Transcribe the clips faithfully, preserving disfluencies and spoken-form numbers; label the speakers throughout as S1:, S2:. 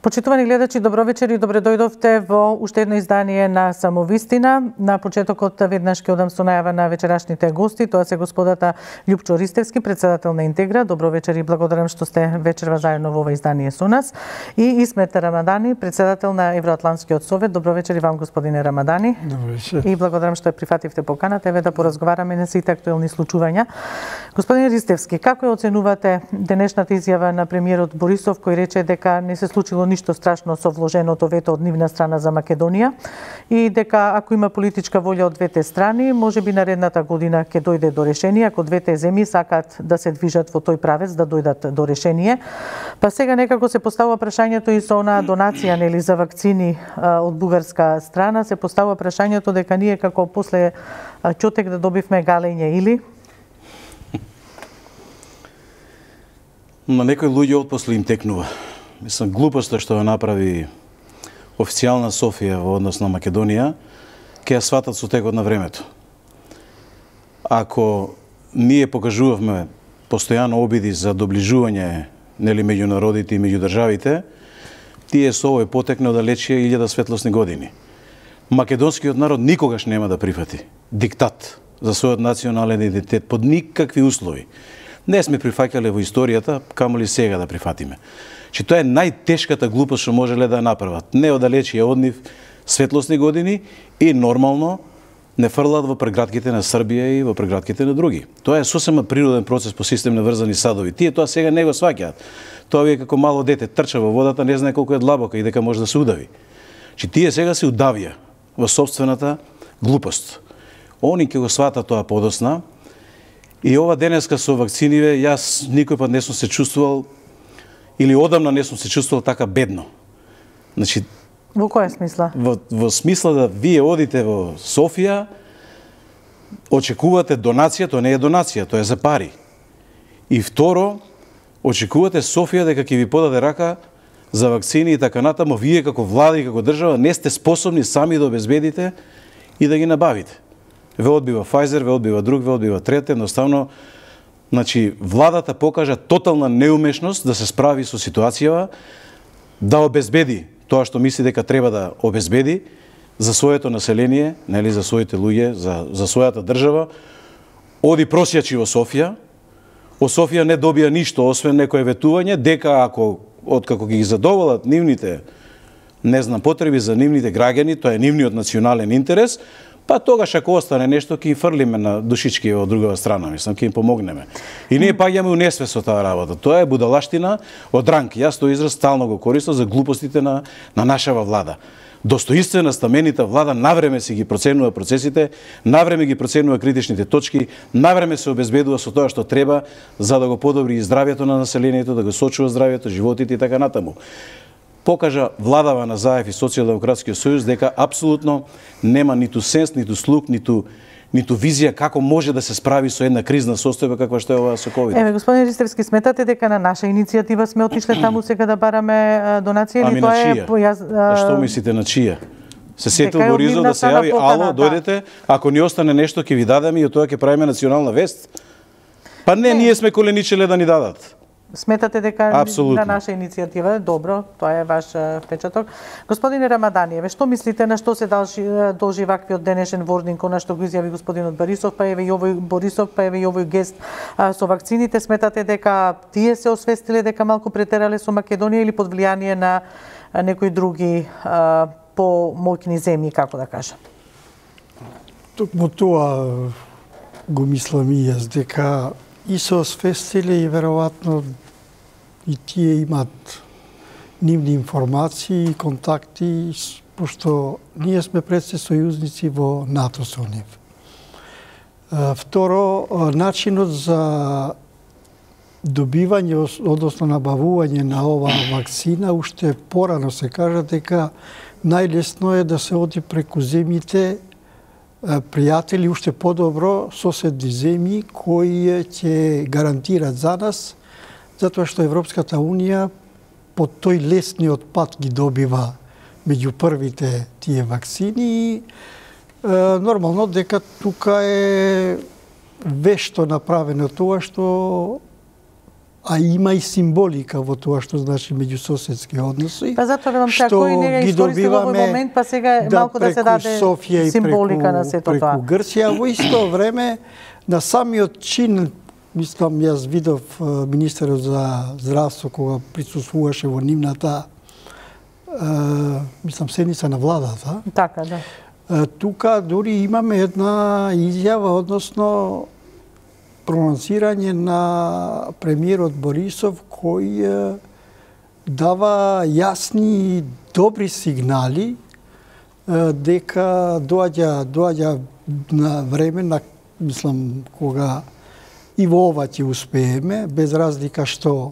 S1: Почитувани гледачи, добро вечер и добре дојдовте во уште едно издание на Самовистина. На почетокот веднаш ќе одам со најава на вечерашните гости. Тоа се господата Љупчо Ристевски, председател на Интегра. Добро вечер и благодарам што сте вечерва заедно во ова издание со нас. И Исмет Рамадани, председател на Евроатлантскиот совет. Добро вечер и вам, господине Рамадани.
S2: Добро вечер.
S1: И благодарам што ја прифативте поканата. Еве да поразговараме на сите актуелни случувања. Господин Ристевски, како ја оценувате денешната изјава на премиерот Борисов, кој рече дека не се случило ништо страшно со вложеното вето од нивна страна за Македонија и дека ако има политичка волја од двете страни, можеби наредната година ќе дојде до решение, ако двете земји сакаат да се движат во тој правец, да дојдат до решение. Па сега некако се поставува прашањето и со онаа донација нели за вакцини а, од бугарска страна, се поставува прашањето дека ние како после Ќотек да добивме галење или
S3: на некои луѓе од после им текнува. Мислам, глупоста што ја направи официјална Софија во однос на Македонија, ќе ја сватат со текот на времето. Ако ние покажувавме постојано обиди за доближување нели меѓу народите и меѓу државите, тие со овој потекне оддалечија илјада светлосни години. Македонскиот народ никогаш нема да прифати диктат за својот национален идентитет под никакви услови. Не сме прифаќале во историјата, камоли сега да прифатиме. Че тоа е најтешката глупост што можеле да направат. Не оддалечија од нив светлосни години и нормално не фрлат во прегратките на Србија и во прегратките на други. Тоа е сосема природен процес по систем на врзани садови. Тие тоа сега не го сваќаат. Тоа ви е како мало дете, трча во водата, не знае колку е длабока и дека може да се удави. Че тие сега се удавија во собствената глупост. Они ќе го сватат тоа подосна. И ова денеска со вакциниве, јас никој пат не сум се чувствувал или одамна не сум се чувствувал така бедно. Значи,
S1: во која смисла?
S3: Во, во смисла да вие одите во Софија, очекувате донација, тоа не е донација, тоа е за пари. И второ, очекувате Софија дека ќе ви подаде рака за вакцини и така натаму, вие како влада и како држава не сте способни сами да обезбедите и да ги набавите. Ве одбива Pfizer, ве одбива друг, ве одбива трет, едноставно, значи, владата покажа тотална неумешност да се справи со ситуацијава, да обезбеди тоа што мисли дека треба да обезбеди за своето население, нели, за своите луѓе, за, за својата држава. Оди просјачи во Софија, во Софија не добија ништо, освен некое ветување, дека ако, откако ги задоволат нивните, не знам, потреби за нивните граѓани, тоа е нивниот национален интерес, па тогаш ако остане нешто, ќе им фрлиме на душички од другава страна, мислам, ќе им помогнеме. И ние паѓаме у несвест со таа работа. Тоа е будалаштина од ранг. Јас тој израз стално го користам за глупостите на, на нашава влада. Достоинствена, стаменита влада навреме си ги проценува процесите, навреме ги проценува критичните точки, навреме се обезбедува со тоа што треба за да го подобри и здравјето на населението, да го сочува здравјето, животите и така натаму. Покажа владава на Заев и Социјалдемократскиот сојуз дека апсолутно нема ниту сенс, ниту слух, ниту ниту визија како може да се справи со една кризна состојба каква што е оваа со ковид.
S1: Еве, господин Ристевски, сметате дека на наша иницијатива сме отишле таму сега да бараме донација или
S3: ами
S1: тоа е
S3: појаз... А што мислите на чија? Се сетил Борисов да се јави, ало,
S1: да.
S3: дојдете, ако ни остане нешто ќе ви дадеме и од тоа ќе правиме национална вест? Па не, не. Ние сме коленичеле да ни дадат.
S1: Сметате дека
S3: Апсолутно.
S1: На наша иницијатива е добро, тоа е ваш впечаток. Господине Рамадани, еве што мислите на што се должи, должи ваквиот денешен вординг, на што го изјави господинот Борисов, па еве и овој Борисов, па еве и овој гест а, со вакцините, сметате дека тие се освестиле дека малку претерале со Македонија или под влијание на а, некои други а, помоќни земји, како да кажам?
S2: Токму тоа го мислам и јас, дека и се освестиле и веројатно и тие имат нивни информации и контакти, пошто ние сме предсе сојузници во НАТО со нив. Второ, начинот за добивање, односно набавување на оваа вакцина, уште порано се кажа дека најлесно е да се оди преку земјите пријатели, уште подобро соседни земји кои ќе гарантират за нас, затоа што Европската Унија по тој лесниот пат ги добива меѓу првите тие вакцини и е, нормално дека тука е вешто направено тоа што а има и символика во тоа што значи меѓусоседски односи.
S1: Па затоа велам така, кој не ги искористи во овој момент, па сега е малку да се даде
S2: Софија
S1: символика
S2: преку,
S1: на сето тоа.
S2: Преку Грција, во исто време на самиот чин, мислам, јас видов министерот за здравство кога присуствуваше во нивната мислам седница на владата.
S1: Така, да.
S2: Тука дури имаме една изјава, односно прононсирање на премиерот Борисов, кој дава јасни и добри сигнали дека доаѓа доаѓа на време, на, мислам, кога и во ова ќе успееме, без разлика што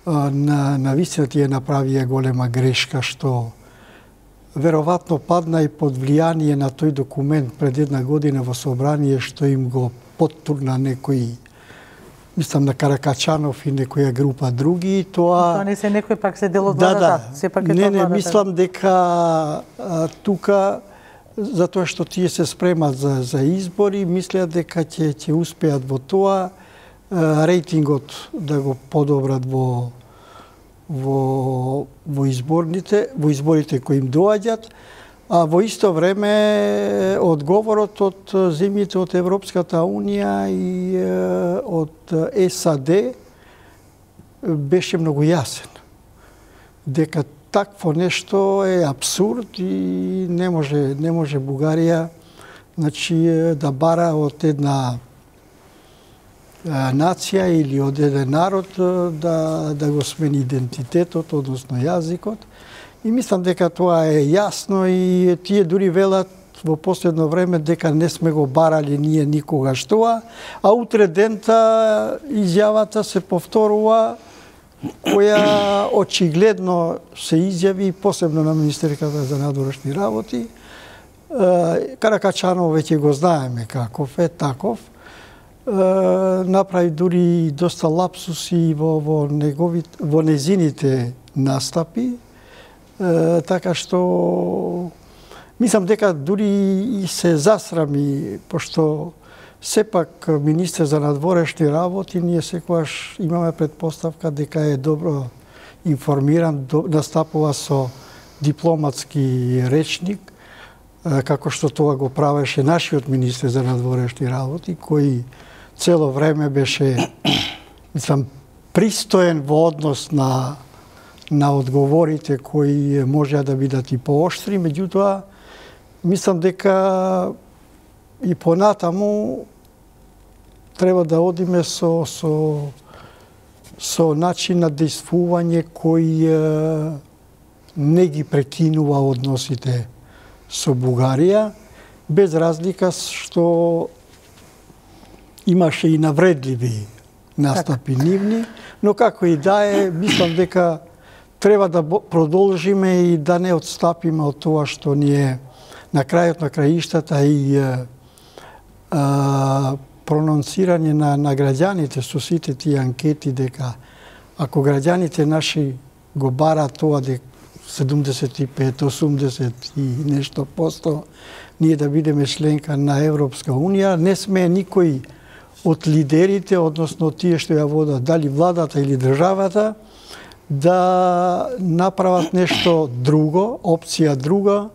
S2: на, на вистина тие направија голема грешка, што веројатно падна и под влијание на тој документ пред една година во собрание, што им го поттурна некои, мислам на Каракачанов и некоја група други, тоа...
S1: Тоа не се некој пак се дел од
S2: да,
S1: владата,
S2: да.
S1: сепак е
S2: не,
S1: тоа
S2: не,
S1: владата.
S2: мислам дека а, тука, затоа што тие се спремат за, за избори, мислеа дека ќе ќе успеат во тоа, а, рейтингот да го подобрат во во во изборните, во изборите кои им доаѓат, а во исто време одговорот од земјите од Европската унија и од САД беше многу јасен. Дека такво нешто е абсурд и не може не може Бугарија, значи, да бара од една нација или од еден народ да, да го смени идентитетот, односно јазикот. И мислам дека тоа е јасно и тие дури велат во последно време дека не сме го барали ние никогаш тоа, а утре дента изјавата се повторува, која очигледно се изјави, посебно на Министерката за надворешни работи. Каракачанов веќе го знаеме каков е, таков. Направи дури доста лапсуси во, во, негови, во незините настапи, така што мислам дека дури и се засрами, пошто сепак министер за надворешни работи, ние секогаш имаме предпоставка дека е добро информиран, настапува со дипломатски речник, како што тоа го правеше нашиот министер за надворешни работи, кој цело време беше, мислам, пристоен во однос на на одговорите кои можеа да бидат и пооштри, меѓутоа мислам дека и понатаму треба да одиме со со со начин на действување кој не ги прекинува односите со Бугарија, без разлика што имаше и навредливи настапи нивни, но како и да е, мислам дека треба да продолжиме и да не отстапиме од тоа што ни е на крајот на краиштата и а, а, прононсирање на, на граѓаните со сите тие анкети дека ако граѓаните наши го бараат тоа дека седумдесет и пет, осумдесет и нешто посто ние да бидеме членка на Европска унија, не сме никој од лидерите, односно тие што ја водат, дали владата или државата, да направат нешто друго, опција друга,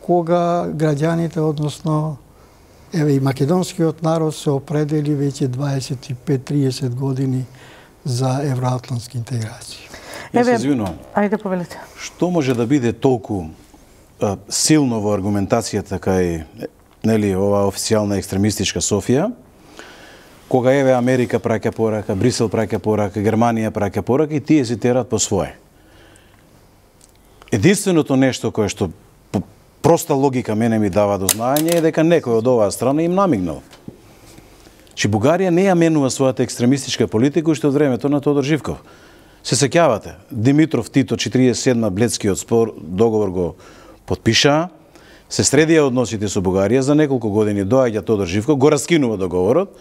S2: кога граѓаните, односно еве и македонскиот народ се определи веќе дваесет и пет до триесет години за евроатлантски интеграции.
S3: Еве, извинувам.
S1: Ајде повелете.
S3: Што може да биде толку а, силно во аргументацијата кај нели ова официјална екстремистичка Софија, кога еве Америка праќа порака, Брисел праќа порака, Германија праќа порака и тие си терат по свое. Единственото нешто кое што по проста логика мене ми дава до знаење е дека некој од оваа страна им намигнал. Че Бугарија не ја менува својата екстремистичка политика уште од времето на Тодор Живков. Се сеќавате, Димитров Тито четириесет и седма Бледскиот спор договор го потпиша, се средија односите со Бугарија, за неколку години доаѓа Тодор Живков, го раскинува договорот.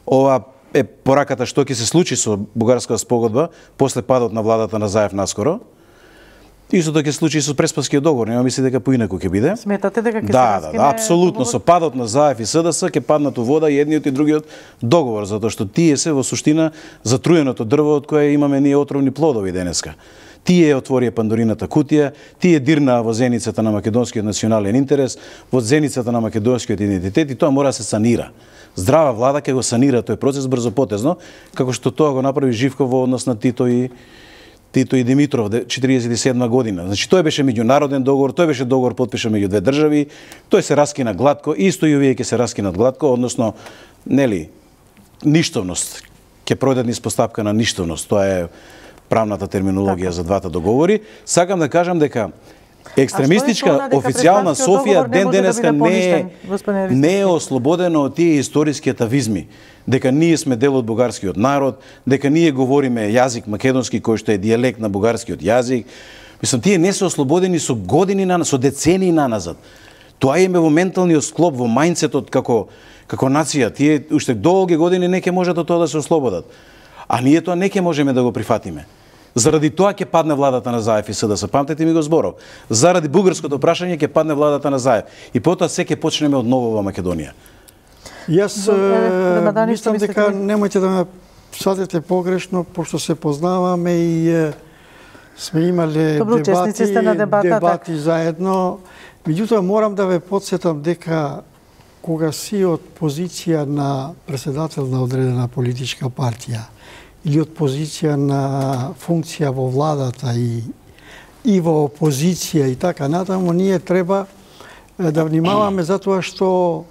S3: Ова е пораката што ќе се случи со бугарската спогодба после падот на владата на Заев наскоро. Истото ќе случи со Преспанскиот договор, нема мисли дека поинаку ќе биде.
S1: Сметате дека ќе се
S3: Да,
S1: раскине?
S3: да, да, апсолутно, со падот на ЗАЕФ и СДС ќе паднат у вода и едниот и другиот договор, затоа што тие се во суштина затруеното дрво од кое имаме ние отровни плодови денеска. Тие отворија Пандорината кутија, тие дирнаа во зеницата на македонскиот национален интерес, во зеницата на македонскиот идентитет и тоа мора да се санира. Здрава влада ќе го санира тој процес брзопотезно, како што тоа го направи Живков во однос на Тито и Тито и Димитров четиридесет и седма година. Значи тој беше меѓународен договор, тој беше договор потпишан меѓу две држави, тој се раскина гладко, исто и овие ќе се раскинат гладко, односно нели ништовност, ќе пројдат низ постапка на ништовност. Тоа е правната терминологија за двата договори. Сакам да кажам дека екстремистичка официјална Софија ден денеска не е, не е ослободено од тие историски атавизми, дека ние сме дел од бугарскиот народ, дека ние говориме јазик македонски кој што е дијалект на бугарскиот јазик. Мислам, тие не се ослободени со години на со децении наназад. Тоа им е во менталниот склоп, во мајндсетот како како нација. Тие уште долги години не ќе можат од тоа да се ослободат. А ние тоа не ќе можеме да го прифатиме. Заради тоа ќе падне владата на ЗАЕФ и СДС. Памтете ми го зборов. Заради бугарското прашање ќе падне владата на ЗАЕФ. И потоа се ќе почнеме од ново во Македонија.
S2: Јас мислам дека немојте да ме сватите погрешно, пошто се познаваме и е, сме имале
S1: Добро,
S2: дебати,
S1: на дебата,
S2: дебати заедно. Меѓутоа морам да ве потсетам дека кога си од позиција на председател на одредена политичка партија или од позиција на функција во владата и и во опозиција и така натаму, ние треба да внимаваме затоа што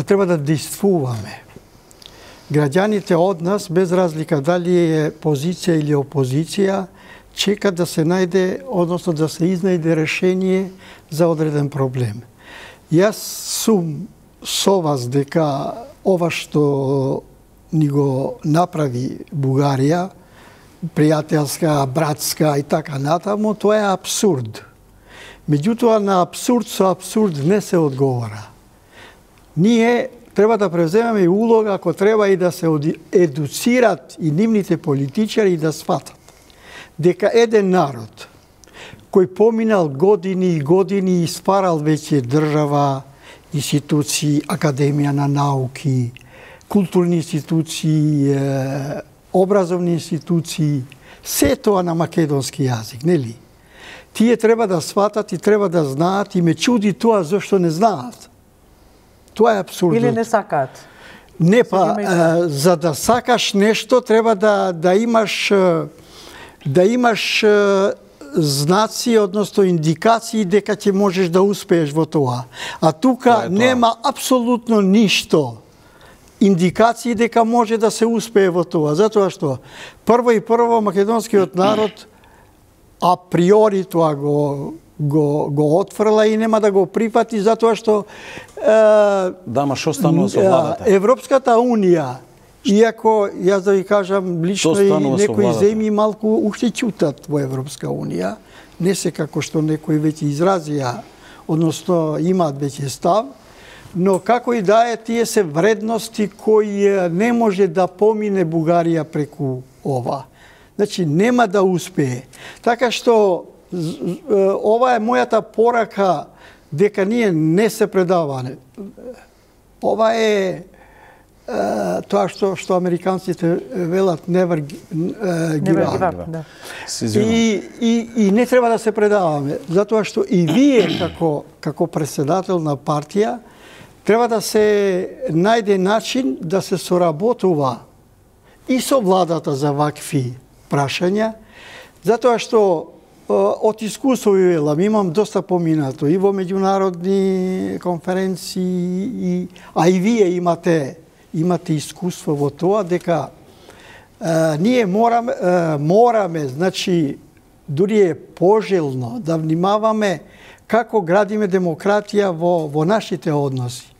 S2: треба да действуваме. Граѓаните од нас, без разлика дали е позиција или опозиција, чекат да се најде, односно да се изнајде решение за одреден проблем. Јас сум со вас дека ова што ни го направи Бугарија, пријателска, братска и така натаму, тоа е абсурд. Меѓутоа, на абсурд со абсурд не се одговора. Ние треба да превземеме и улога, ако треба и да се едуцират и нивните политичари и да сватат дека еден народ кој поминал години и години и стварал веќе држава, институции, академија на науки, културни институции, образовни институции, се тоа на македонски јазик, нели? Тие треба да сватат и треба да знаат и ме чуди тоа зашто не знаат. Тоа е абсурдно.
S1: Или не сакаат.
S2: Не, па, а, за да сакаш нешто треба да да имаш да имаш а, знаци, односно индикации дека ќе можеш да успееш во тоа. А тука тоа нема апсолутно ништо индикации дека може да се успее во тоа, затоа што прво и прво македонскиот народ априори тоа го го го отфрла и нема да го прифати затоа што е,
S3: да, ма што станува со владата?
S2: Европската унија, иако јас да ви кажам лично и некои земји малку уште ќутат во Европска унија, не се како што некои веќе изразија, односно имаат веќе став, но како и да е, тие се вредности кои не може да помине Бугарија преку ова. Значи нема да успее. Така што ова е мојата порака дека ние не се предаваме. Ова е, е тоа што што американците велат never give up.
S1: Да.
S2: И, и, и не треба да се предаваме, затоа што и вие како како претседател на партија треба да се најде начин да се соработува и со владата за вакви прашања, затоа што од искуство ви велам, имам доста поминато и во меѓународни конференции, и, а и вие имате имате искуство во тоа дека е, ние мораме, е, мораме, значи, дури е пожелно да внимаваме како градиме демократија во, во нашите односи.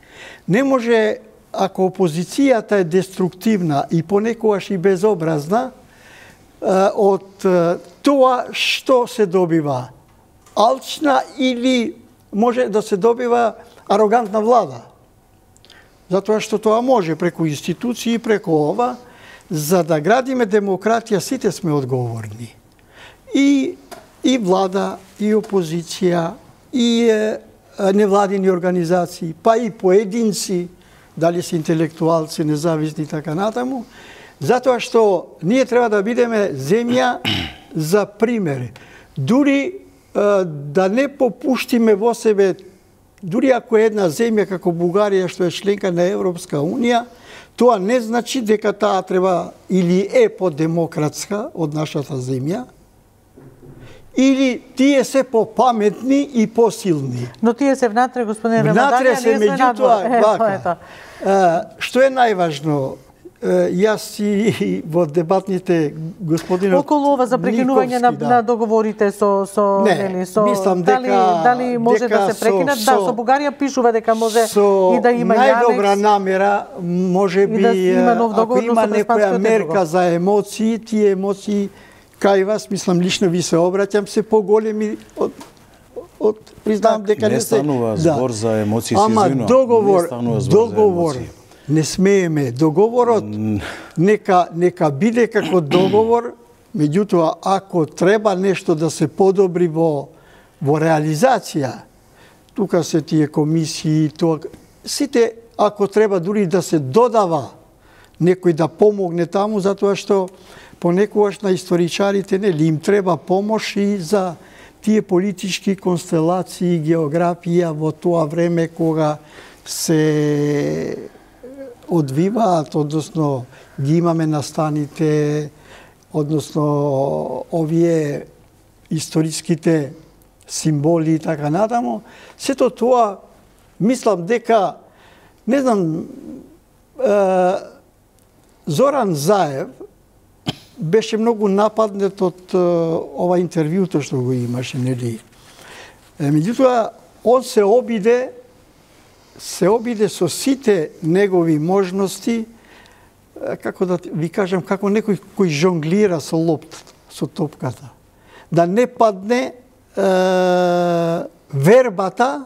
S2: Не може, ако опозицијата е деструктивна и понекогаш и безобразна, од тоа што се добива? Алчна или може да се добива арогантна влада? Затоа што тоа може преку институции, преку ова, за да градиме демократија, сите сме одговорни. И и влада, и опозиција, и е, невладини организации, па и поединци, дали се интелектуалци, независни и така натаму, затоа што ние треба да бидеме земја за пример. Дури е, да не попуштиме во себе, дури ако е една земја како Бугарија што е членка на Европска Унија, тоа не значи дека таа треба или е подемократска од нашата земја, или тие се попаметни и посилни.
S1: Но тие се внатре, господине Рамадања,
S2: Внатре се, меѓутоа, вака. Што е најважно? Јас и во дебатните господинот
S1: околу ова за прекинување на,
S2: да.
S1: на договорите со со
S2: Не,
S1: нели со
S2: мислам
S1: дали
S2: дека,
S1: дали може
S2: дека
S1: да се прекинат?
S2: со,
S1: Да, со Бугарија пишува дека може
S2: со
S1: и да има
S2: најдобра
S1: анекс,
S2: намера, може би,
S1: да има нов
S2: ако
S1: договор, но
S2: има
S1: со
S2: некоја
S1: преспанското
S2: мерка
S1: друго.
S2: за емоции, тие емоции кај вас, мислам, лично ви се обраќам, се поголеми од од признавам дека
S3: не
S2: не се
S3: станува збор за емоции,
S2: Ама
S3: се извинувам.
S2: договор,
S3: Не станува збор за
S2: договор,
S3: емоции.
S2: не смееме договорот, нека нека биде како договор, меѓутоа ако треба нешто да се подобри во во реализација, тука се тие комисии, тоа сите ако треба дури да се додава некој да помогне таму, затоа што понекогаш на историчарите нели им треба помош и за тие политички констелации, географија во тоа време кога се одвиваат, односно ги имаме настаните, односно овие историските символи и така натаму. Сето тоа, мислам дека, не знам, е, Зоран Заев беше многу нападнет од е, ова интервјуто што го имаше, нели? Е, меѓутоа, он се обиде се обиде со сите негови можности, како да ви кажам, како некој кој жонглира со лоптата, со топката. Да не падне е, вербата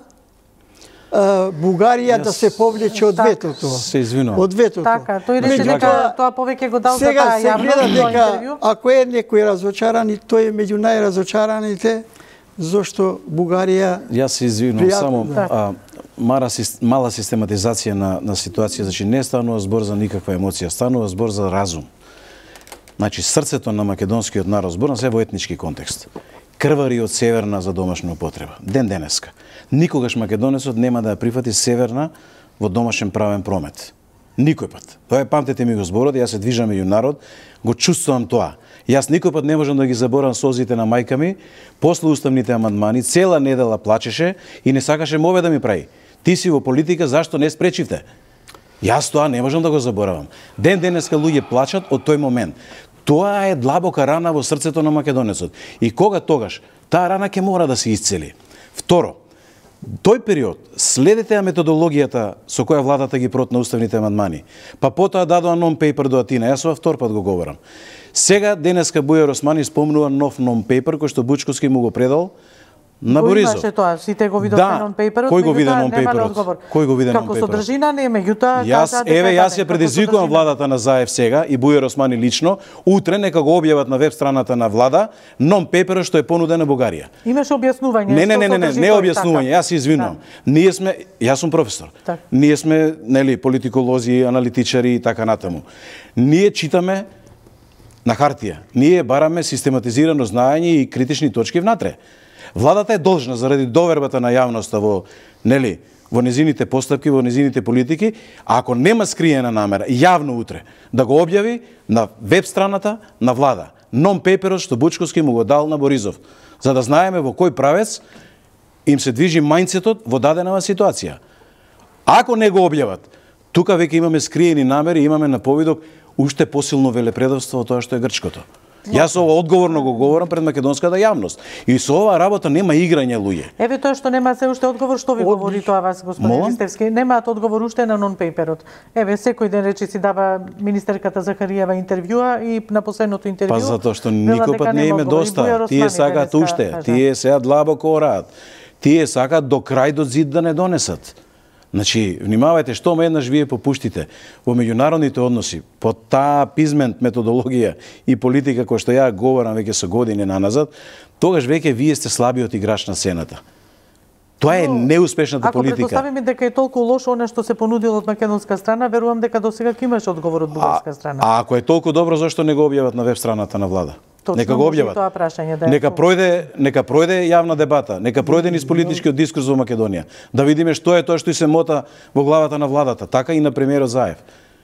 S2: е, Бугарија да се повлече од ветото.
S3: Се извинувам.
S2: Од ветото.
S1: Така, тој рече
S3: Значи,
S1: дека тоа повеќе го дал за
S2: Сега
S1: таа
S2: се
S1: јавност
S2: гледа
S1: во
S2: дека
S1: интервју.
S2: ако е некој разочаран, тој е меѓу најразочараните, зашто Бугарија...
S3: Јас се извинувам,
S2: Пријатно,
S3: само
S2: да.
S3: а, мара, мала систематизација на, на ситуација, значи не станува збор за никаква емоција, станува збор за разум. Значи срцето на македонскиот народ, збор на се во етнички контекст, крвари од северна за домашна употреба. Ден денеска. Никогаш македонецот нема да ја прифати северна во домашен правен промет. Никој пат. Тоа е, памтете ми го зборот, јас се движам меѓу народ, го чувствувам тоа. Јас никој пат не можам да ги заборам созите на мајка ми, после уставните амандмани, цела недела плачеше и не сакаше мове да ми прави. Ти си во политика, зашто не спречивте? Јас тоа не можам да го заборавам. Ден денеска луѓе плачат од тој момент. Тоа е длабока рана во срцето на македонецот. И кога тогаш, таа рана ќе мора да се исцели. Второ, тој период, следете ја методологијата со која владата ги протна уставните амандмани, па потоа дадоа нон-пейпер до Атина, јас ова втор пат го говорам. Сега, денеска Бујар Османи спомнува нов нон-пейпер кој што Бучковски му го предал на
S1: Го
S2: Борисов.
S1: имаше тоа, сите го видовме
S2: Да.
S1: нон-пейперот,
S3: Кој го виде
S1: меѓутоа
S3: нон-пейперот?
S1: немале одговор.
S3: Кој го виде
S1: Како
S3: нон-пейперот?
S1: содржина не, меѓутоа
S3: Јас,
S1: кажа дека
S3: еве, јас
S1: да,
S3: ја предизвикувам
S1: како содржина.
S3: владата на Заев сега и Бујар Османи лично, утре нека го објават на веб страната на влада нон-пейперот што е понуден на Бугарија.
S1: Имаше објаснување.
S3: Не, не,
S1: што
S3: не, не, не,
S1: содржи
S3: не
S1: тој,
S3: објаснување,
S1: така.
S3: јас се извинувам. Ние сме, јас сум професор.
S1: Така.
S3: Ние сме, нели, политиколози, аналитичари и така натаму. Ние читаме на хартија. Ние бараме систематизирано знаење и критични точки внатре. Владата е должна заради довербата на јавноста во, нели, во незините постапки, во незините политики, а ако нема скриена намера, јавно утре, да го објави на веб страната на влада. Нон-пейперот што Бучковски му го дал на Борисов, за да знаеме во кој правец им се движи мајндсетот во даденава ситуација. Ако не го објават, тука веќе имаме скриени намери, имаме на повидок уште посилно велепредавство од тоа што е грчкото. Јас ова одговорно го говорам пред македонската јавност. И со оваа работа нема играње, луѓе.
S1: Еве тоа што нема се уште одговор, што ви
S2: Од-
S1: говори тоа вас, господин
S3: Молам?
S1: Ристевски? Немаат одговор уште на нон-пейперот. Еве, секој ден речи си дава министерката Захариева интервјуа и на последното интервју...
S3: Па затоа што
S1: вела
S3: никој
S1: дека
S3: пат не
S1: нема
S3: име
S1: одговор. И
S3: доста.
S1: Бујар
S3: Тие
S1: Османи
S3: сакаат
S1: денеска
S3: уште.
S1: кажа.
S3: Тие сега длабоко ораат. Тие сакаат до крај до зид да не донесат. Значи, внимавајте што ме еднаш вие попуштите во меѓународните односи, по таа пизмент методологија и политика која што ја говорам веќе со години наназад, тогаш веќе вие сте слабиот играч на сцената. Тоа е неуспешната
S1: ако
S3: политика.
S1: Ако предпоставиме дека е толку лошо она што се понудило од македонска страна, верувам дека досега ќе имаш одговор од бугарска страна.
S3: А, а ако е толку добро, зошто не го објават на веб страната на влада?
S1: Точно,
S3: нека го објават.
S1: Тоа прашање, да е
S3: нека пројде, нека пројде јавна дебата, нека пројде низ политичкиот дискурс во Македонија. Да видиме што е тоа што и се мота во главата на владата, така и на премиерот Заев.